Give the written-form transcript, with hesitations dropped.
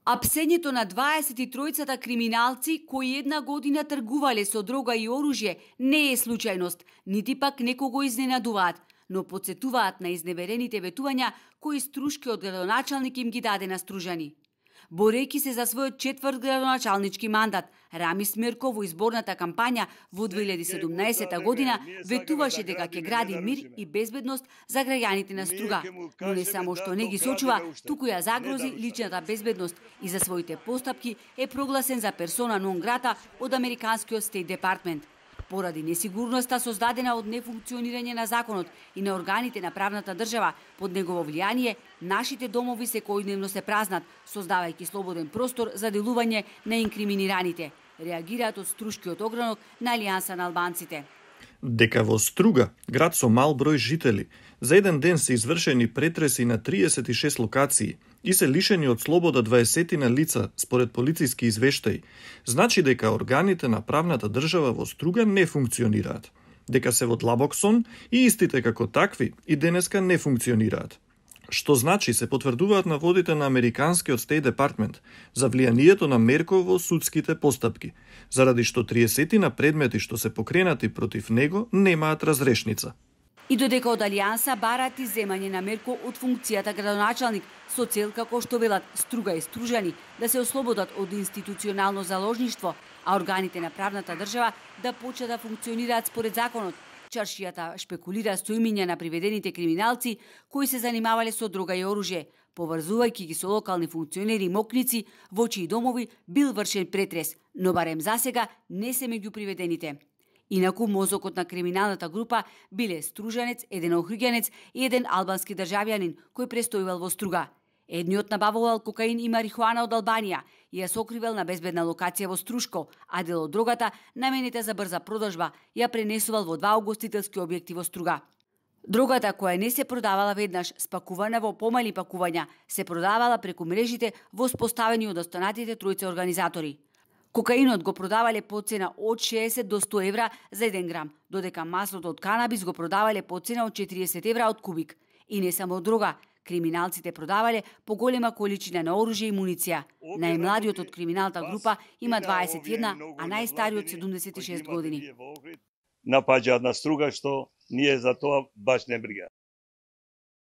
Апсењето на 23-цата криминалци кои една година тргувале со дрога и оружје не е случајност, нити пак некого изненадуваат, но потсетуваат на изневерените ветувања кои Струшкиот градоначалник им ги даде на Стружани. Борејќи се за својот четврт градоначалнички мандат, Рамис Мирко во изборната кампања во 2017 година ветуваше дека ќе гради мир и безбедност за граѓаните на Струга, но не само што не ги сочува, туку ја загрози личната безбедност и за своите постапки е прогласен за персона нон грата од американскиот Стейт Департмент. Поради несигурноста создадена од нефункционирање на законот и на органите на правната држава, под негово влијание, нашите домови секојдневно се празнат, создавајќи слободен простор за делување на инкриминираните, реагираат од Струшкиот огранок на Алијанса на албанците. Дека во Струга, град со мал број жители, за еден ден се извршени претреси на 36 локации и се лишени од слобода 20 лица, според полициски извештаи, значи дека органите на правната држава во Струга не функционираат, дека се во длабок сон и истите како такви и денеска не функционираат. Што значи се потврдуваат наводите на американскиот Стейт Департмент за влијанието на Мерко во судските постапки, заради што 30 предмети што се покренати против него немаат разрешница. И додека од Алијанса барат иземање на Мерко од функцијата градоначалник со цел, како што велат Струга и Стружани, да се ослободат од институционално заложништво, а органите на правната држава да почнат да функционираат според законот. Чаршијата шпекулира со имиња на приведените криминалци кои се занимавале со дрога и оружје, поврзувајќи ги со локални функционери и мокници, во чии домови бил вршен претрес, но барем засега не се меѓу приведените. Инаку мозокот на криминалната група биле стружанец, еден охриѓанец и еден албански државјанин кој престојувал во Струга. Едниот набавувал кокаин и марихуана од Албанија и ја сокривал на безбедна локација во Струшко, а дел од дрогата, наменета за брза продажба, ја пренесувал во 2 угостителски објекти во Струга. Дрогата која не се продавала веднаш, спакувана во помали пакувања, се продавала преку мрежите воспоставени од останатите тројца организатори. Кокаинот го продавале по цена од 60 до 100 евра за 1 грам, додека маслото од канабис го продавале по цена од 40 евра од кубик. И не само дрога, криминалците продавале поголема количина на оружје и муниција. Најмладиот од криминалната група има 21, а најстариот 76 години. Напаѓаат на Струга, што ние за тоа баш не брига.